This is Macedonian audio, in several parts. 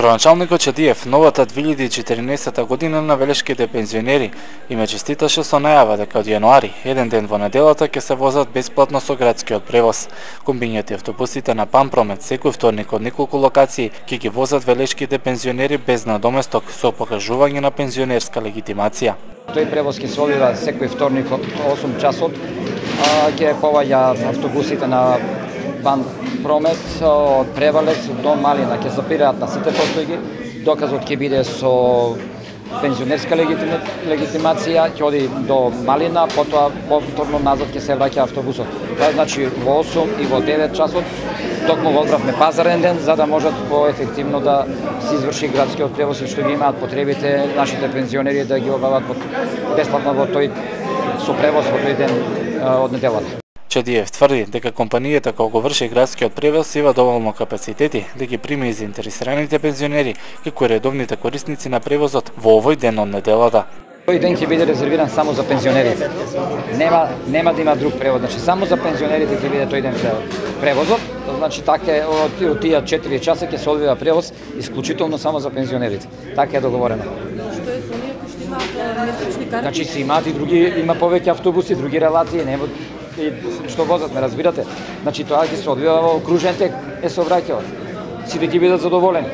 Градоначалникот Чадиев новата 2014 година на велешките пензионери им честиташе со најава дека од јануари, еден ден во неделата ќе се возат бесплатно со градскиот превоз. Комбињата автобусите на Пампромет секој вторник од неколку локации ќе ги возат велешките пензионери без надоместок со покажување на пензионерска легитимација. Тој превоз ќе се одвива секој вторник од 8 часот. Ќе поваѓа автобусите на Пампромет од Превалец до Малина, ќе запираат на сите постојки. Доказот ќе биде со пензионерска легитимација, ќе оди до Малина, потоа повторно назад ќе се враќа автобусот. Тоа значи во 8 и во 9 часот, токму го одбравме пазарен ден, за да можат поефективно да се изврши градскиот превоз и што ги имаат потребите нашите пензионери да ги обават бесплатно во тој со превоз во тој ден од неделата. Чадиев тврди дека компанијата која го врши градскиот превоз има доволно капацитети да ги приме и заинтересираните пензионери, како и редовните корисници на превозот во овој ден од неделата. Тој ден ќе биде резервиран само за пензионерите. Нема да има друг превоз, значи само за пензионерите ќе биде тој ден превозот. Значи така од тие 4 часа ќе се одвива превоз исклучително само за пензионерите. Така е договорено. Што е со оние кои што имаат месечни карти? Значи се имаат и други, има повеќе автобуси, други релации, нема и што возат, не разбирате. Значи тоа ќе се одвива во кружен тек, се обраќаат. Сите ќе бидат задоволени.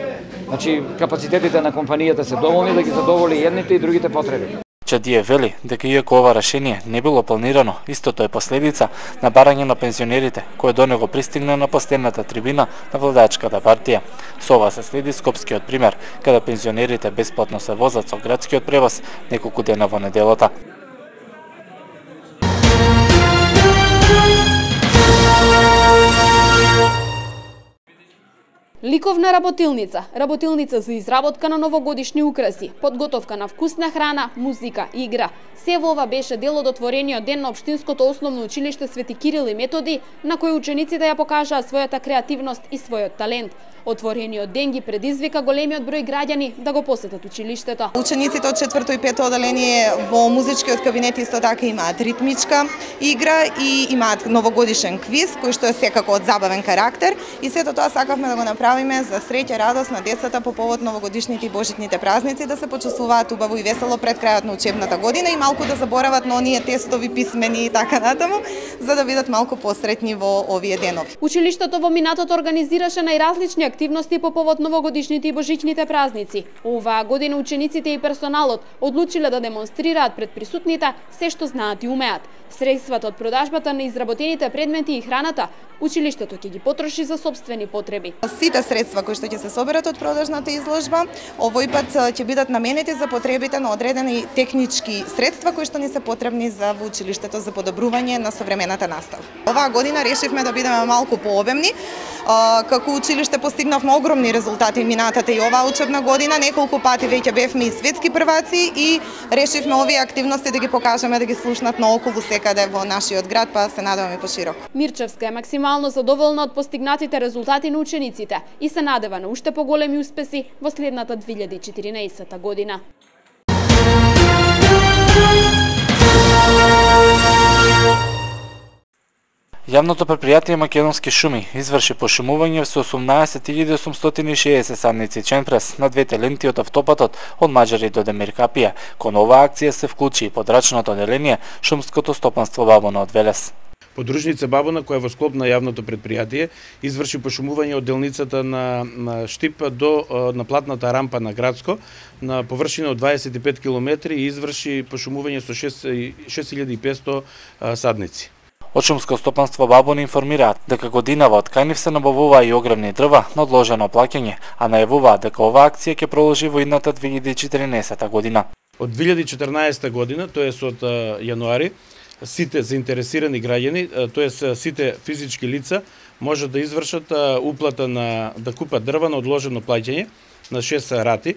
Значи капацитетите на компанијата се доволни да ги задоволи едните и другите потреби. Чадиев вели дека иако ова решение не било планирано, истото е последица на барање на пензионерите, кое до него пристигна на последната трибина на владачката партија. Со ова се следи скопскиот пример, каде пензионерите бесплатно се возат со градскиот превоз неколку дена во неделата. Ликовна работилница, работилница за изработка на новогодишни украси, подготовка на вкусна храна, музика, игра. Се во ова беше дел од отворениот ден на Општинското основно училиште Свети Кирил и Методи, на кој учениците ја покажаа својата креативност и својот талент. Отворениот ден ги предизвика големиот број граѓани да го посетат училиштето. Учениците од 4-то и 5-то оделение во музичкиот кабинет исто така имаат ритмичка игра и имаат новогодишен квиз кој што е секако од забавен карактер и сето тоа сакавме да го направиме за среќа и радост на децата по повод новогодишните и божитните празници, да се почувствуваат убаво и весело пред крајот на учебната година и малку да заборават на оние тестови, писмени и така натаму, за да бидат малку посретни во овие денови. Училиштето во минатото организираше најразлични активности по повод новогодишните и божичните празници. Оваа година учениците и персоналот одлучиле да демонстрираат пред присутните се што знаат и умеат. Средствата од продажбата на изработените предмети и храната, училиштето ќе ги потроши за сопствени потреби. Сите средства кои што ќе се соберат од продажната изложба, овој пат ќе бидат наменети за потребите на одредени технички средства кои што ни се потребни за во училиштето за подобрување на современата настава. Оваа година решивме да бидеме малку пообемни. Како училиште постигнавме огромни резултати минатата и оваа учебна година, неколку пати веќе бевме и светски прваци и решивме овие активности да ги покажеме, да ги слушнат наоколу секаде во нашиот град, па се надеваме пошироко. Мирчевска е максимално задоволна од постигнатите резултати на учениците и се надева на уште поголеми успеси во следната 2014 година. Јавното предпријатие Македонски шуми изврши пошумување со 18.860 садници ченпрес на двете ленти од автопатот од Маџари до Демиркапија. Кон оваа акција се вклучи и подрачното оделение Шумското стопанство Бабуна од Велес. Подружница Бабуна, која во склоп на јавното предпријатие изврши пошумување од делницата на Штип до наплатната рампа на Градско на површина од 25 км и изврши пошумување со 6500 садници. Од Шумско стопанство Бабуна информираат дека годинава од кај нив се набавуваа и огромни дрва на одложено плаќање, а најавуваат дека оваа акција ќе продолжи во идната 2014 година. Од 2014 година, тоест од јануари, сите заинтересирани граѓани, тоест сите физички лица, можат да извршат уплата да купат дрва на одложено плаќање на 6 рати.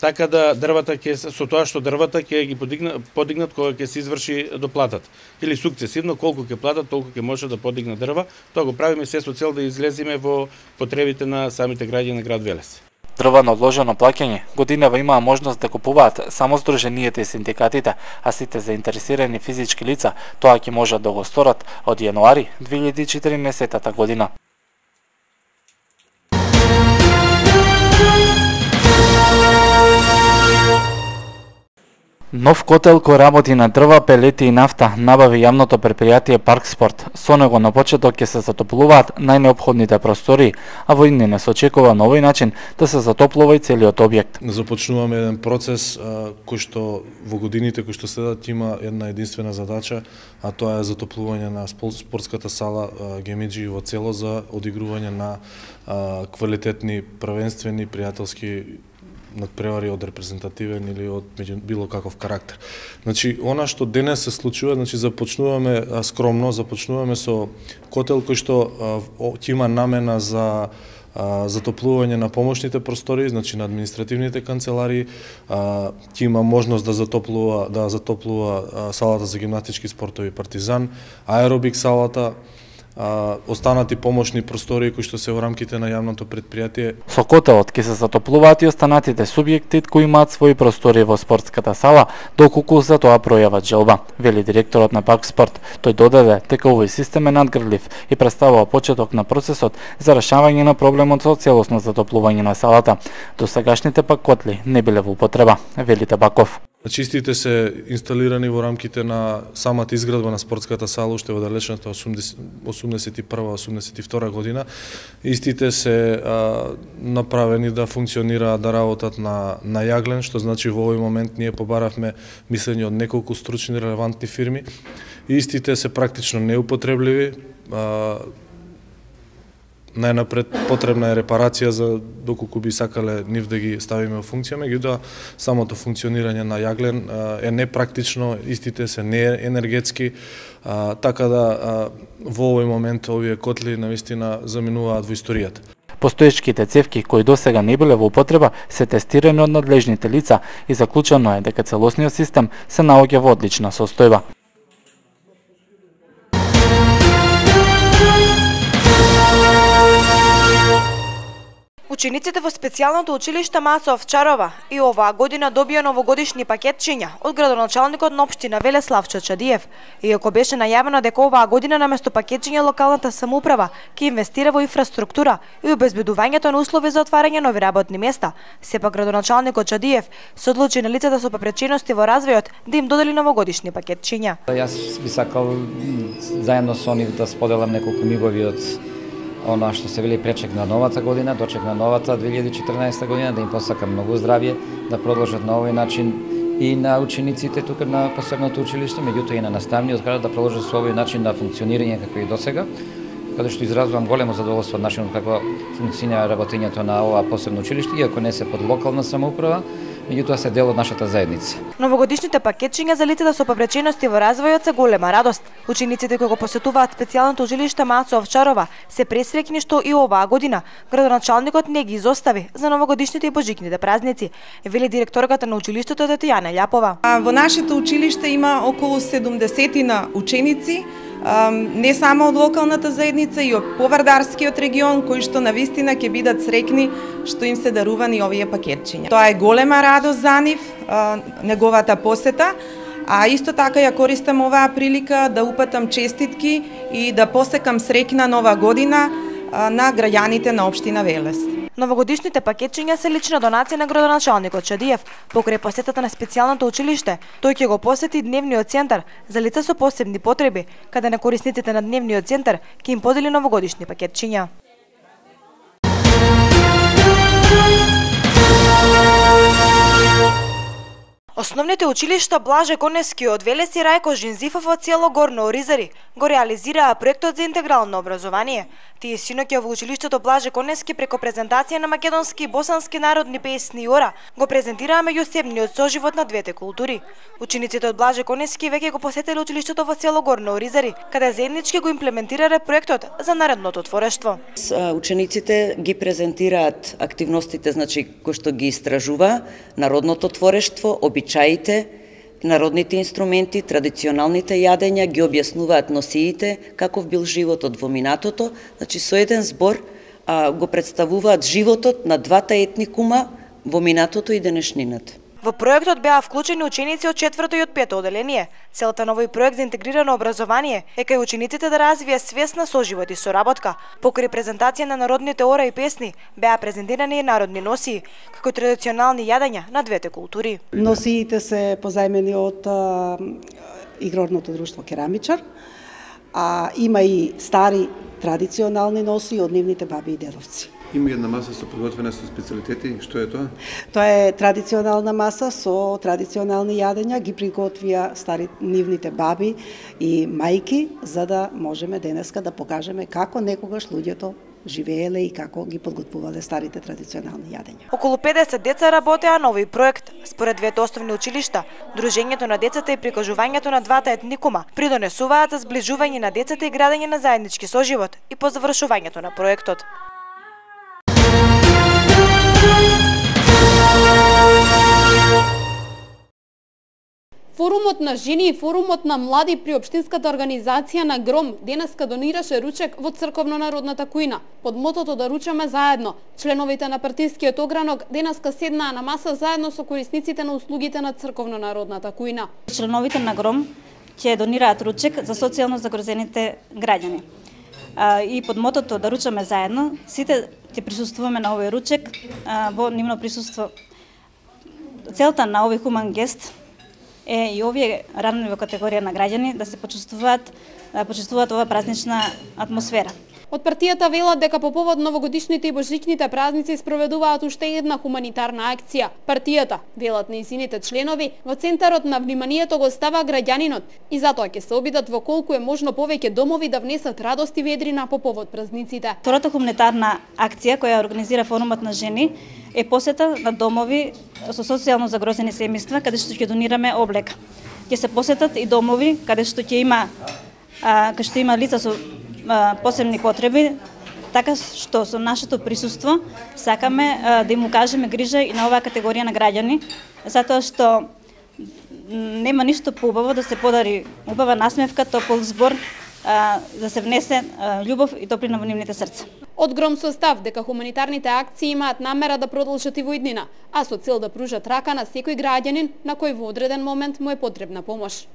Така да дрвата со тоа што дрвата ќе ги подигнат кога ќе се изврши доплатата. Или сукцесивно колку ќе платат, толку ќе може да подигнат дрва. Тоа го правиме се со цел да излеземе во потребите на самите граѓани на град Велес. Дрва на одложено плаќање годинава имаа можност да купуваат само здруженијата и синдикатите, а сите заинтересирани физички лица тоа ќе можат да го сторат од јануари 2014 година. Нов котел кој работи на дрва, пелети и нафта набави јавното предпријатие Паркспорт. Со него на почеток ќе се затоплуваат најнеопходните простори, а во иднина се очекува на овој начин да се затоплува и целиот објект. Започнуваме еден процес кој што во годините кои што следат има една единствена задача, а тоа е затоплување на спортската сала Гемиџи во цело за одигрување на квалитетни, првенствени, пријателски надпревари од репрезентативен или од било каков карактер. Значи, она што денес се случува, значи започнуваме скромно, започнуваме со котел кој што ќе има намена за затоплување на помошните простори, значи на административните канцеларии, ќе има можност да затоплува салата за гимнастички спортови Партизан, аеробик салата, останати помошни простори кои што се во рамките на јавното предпријатие. Со котелот ќе се затоплуваат и останатите субјекти кои имаат своји простори во спортската сала, доколку за тоа пројават желба, вели директорот на Паркспорт. Тој додаде дека овој систем е надгрдлив и представува почеток на процесот за решавање на проблемот со целосно затоплување на салата. Досегашните пак котли не биле во употреба, вели Табаков. Чистите се инсталирани во рамките на самата изградба на спортската сала уште во далечната 81-82 година. Истите се направени да функционираат, да работат на јаглен, што значи во овој момент ние побаравме мислење од неколку стручни релевантни фирми. Истите се практично неупотребливи. Најнапред потребна е репарација за доколку би сакале нив да ги ставиме во функција, меѓутоа самото функционирање на јаглен е непрактично, истите се неенергетски, така да во овој момент овие котли навистина заминуваат во историјата. Постоечките цевки кои досега не биле во употреба се тестирани од надлежните лица и заклучено е дека целосниот систем се наоѓа во одлична состојба. Учениците во специјалното училиште Маца Овчарова и оваа година добија новогодишни пакетчиња од градоначалникот на општина Велеслав Чачадиев. Иако беше најавено дека оваа година наместо пакетчиња локалната самоуправа ќе инвестира во инфраструктура и обезбедувањето на услови за отварање нови работни места, сепак градоначалникот Чадиев се одлучи на лицата со попречености во развојот да им додели новогодишни пакетчиња. Јас би сакал заедно со нив да споделам неколку мигови од она што се вели пречек на новата година, дочек на новата 2014 година, да им посакам многу здравје, да продолжат на овој начин и на учениците тука на посебното училиште, меѓутоа и на наставниот кадар да продолжат со овој начин на функционирање како и досега, каде што изразувам големо задоволство од начинот како функционира работењето на ова посебно училиште, иако не се под локална самоуправа, меѓутоа се дел од нашата заедница. Новогодишните пакетчиња за лицата со попречености во развојот се голема радост. Учениците кои го посетуваат специјалното училиште Маца Овчарова се пресреќни што и оваа година градоначалникот не ги изостави за новогодишните и божикните празници, вели директорката на училиштето Татјана Љапова. Во нашето училиште има околу 70 ученици, не само од локалната заедница и од Повардарскиот регион, кои што навистина ќе бидат среќни што им се дарувани овие пакетчиња. Тоа е голема радост за нив, неговата посета, а исто така ја користам оваа прилика да упатам честитки и да посекам среќна нова година на граѓаните на општина Велес. Новогодишните пакетчиња се лична донација на градоначалникот Чадиев. Покрај посетата на специјалното училиште, тој ќе го посети дневниот центар за лица со посебни потреби, каде на корисниците на дневниот центар ќе им подели новогодишни пакетчиња. Основните училишта Блаже Конески од Велес и Рајко Жензифов од село Горно Оризари го реализираа проектот за интегрално образование. Тие синоќа во училиштето Блаже Конески преко презентација на македонски и босански народни песни и ора го презентираа меѓусебниот соживот на двете култури. Учениците од Блаже Конески веќе го посетиле училиштето во село Горно Оризари, каде заеднички го имплементирале проектот за наредното творештво. Учениците ги презентираат активностите, значи кои што ги истражува народното творештво, обичаите, народните инструменти, традиционалните јадења, ги објаснуваат носиите, каков бил животот во минатото, значи со еден збор го представуваат животот на двата етникума во минатото и денешнината. Во проектот беа вклучени ученици од 4-то и од 5-то оделение. Целта на овој проект за интегрирано образование е кај учениците да развие свест на соживот и соработка. Покрај презентација на народните ора и песни, беа презентирани и народни носии, како традиционални јадења на двете култури. Носиите се позајмени од Игрорното друштво Керамичар, а има и стари традиционални носи од нивните баби и дедовци. Има една маса со подготвена со специјалитети, што е тоа? Тоа е традиционална маса со традиционални јадења, ги приготвија стари нивните баби и мајки, за да можеме денеска да покажеме како некогаш луѓето живееле и како ги подготвувале старите традиционални јадења. Околу 50 деца работеа на овој проект. Според двете основни училишта, дружењето на децата и прикажувањето на двата етникума придонесуваат за зближување на децата и градење на заеднички соживот и по завршувањето на проектот. Форумот на жени и форумот на млади при општинската организација на Гром денеска донираше ручек во црковно-народната кујна. Под мотото да ручаме заедно, членовите на партискиот огранок денеска седнаа на маса заедно со корисниците на услугите на црковно-народната кујна. Членовите на Гром ќе донираат ручек за социјално загрозените граѓани. И под мотото да ручаме заедно, сите ќе присуствуваме на овој ручек во нивно присуство. Целта на овој хуман гест е и овие ранливи категорија на граѓани да се почувствуваат ова празнична атмосфера. Од партијата велат дека по повод новогодишните и божичните празници спроведуваат уште една хуманитарна акција. Партијата, велат нејзините членови, во центарот на вниманието го става граѓанинот и затоа ќе се обидат во колку е можно повеќе домови да внесат радост и ведрина по повод празниците. Втората хуманитарна акција која организира форумот на жени е посета на домови со социјално загрозени семејства каде што ќе донираме облека. Ќе се посетат и домови каде што ќе има лица со посебни потреби, така што со нашето присуство сакаме да им укажеме грижа и на оваа категорија на граѓани, затоа што нема ништо поубаво да се подари убава насмевка, топол збор, да се внесе љубов и топлина во нивните срца. Од Гром состав дека хуманитарните акции имаат намера да продолжат и во иднина, а со цел да пружат рака на секој граѓанин на кој во одреден момент му е потребна помош.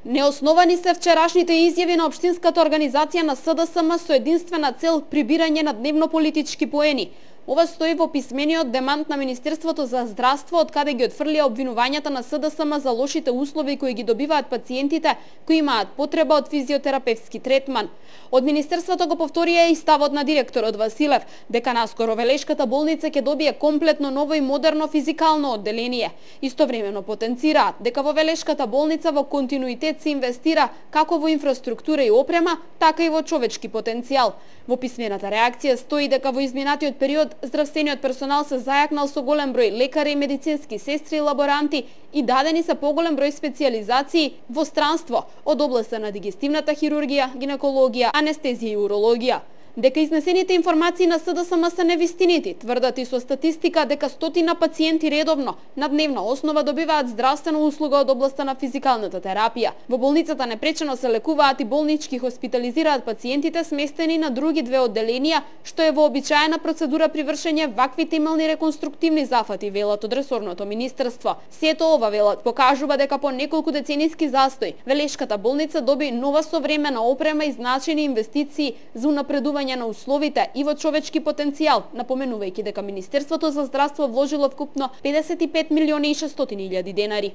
Неосновани се вчерашните изјави на општинската организација на СДСМ со единствена цел прибирање на дневно-политички поени. Ова стои во писмениот демант на Министерството за здравство, од каде ги отфрлија обвинувањата на СДСМ за лошите услови кои ги добиваат пациентите кои имаат потреба од физиотерапевски третман. Од Министерството го повторија и ставот на директорот Василев, дека наскоро Велешката болница ќе добие комплетно ново и модерно физикално одделение. Истовремено потенцираат дека во Велешката болница во континуитет се инвестира како во инфраструктура и опрема, така и во човечки потенцијал. Во писмената реакција стои дека во изминатиот период здравствениот персонал се зајакнал со голем број лекари и медицински сестри и лаборанти и дадени се поголем број специјализации во странство од областа на дигестивната хирургија, гинекологија, анестезија и урологија. Дека изнесените информации на СДСМ се невистинити, тврдат и со статистика дека стотина пациенти редовно на дневна основа добиваат здравствена услуга од областа на физикалната терапија. Во болницата непречено се лекуваат и болнички хоспитализираат пациентите сместени на други две одделенија, што е вообичаена процедура при вршење вакви темелни реконструктивни зафати, велат од ресорното министерство. Сето ова, велат, покажува дека по неколку децениски застој Велешката болница доби нова современа опрема и значени инвестиции за унапредување на условите и во човечки потенцијал, напоменувајќи дека Министерството за здравство вложило вкупно 55 милиони и 600 илјади денари.